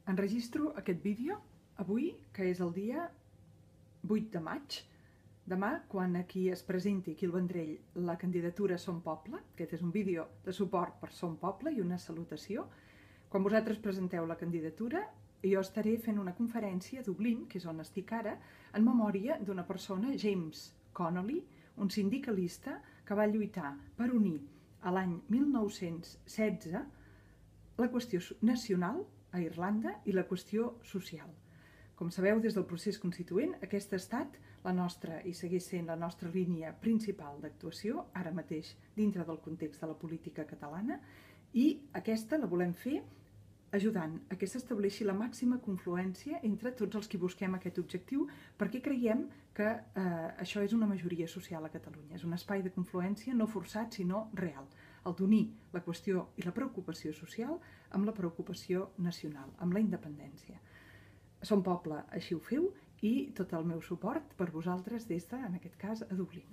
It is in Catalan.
Enregistro aquest vídeo avui, que és el dia 8 de maig. Demà, quan aquí es presenti, aquí al Vendrell, la candidatura Som Poble, aquest és un vídeo de suport per Som Poble i una salutació. Quan vosaltres presenteu la candidatura, jo estaré fent una conferència a Dublín, que és on estic ara, en memòria d'una persona, James Connolly, un sindicalista que va lluitar per unir a l'any 1916 la qüestió nacional a Irlanda i la qüestió social. Com sabeu, des del procés constituent, aquesta ha estat la nostra, i segueix sent la nostra línia principal d'actuació, ara mateix dintre del context de la política catalana, i aquesta la volem fer ajudant a que s'estableixi la màxima confluència entre tots els que busquem aquest objectiu, perquè creiem que això és una majoria social a Catalunya. És un espai de confluència no forçat, sinó real, el d'unir la qüestió i la preocupació social amb la preocupació nacional, amb la independència. Som Poble, així ho feu, i tot el meu suport per vosaltres des de, en aquest cas, a Dublín.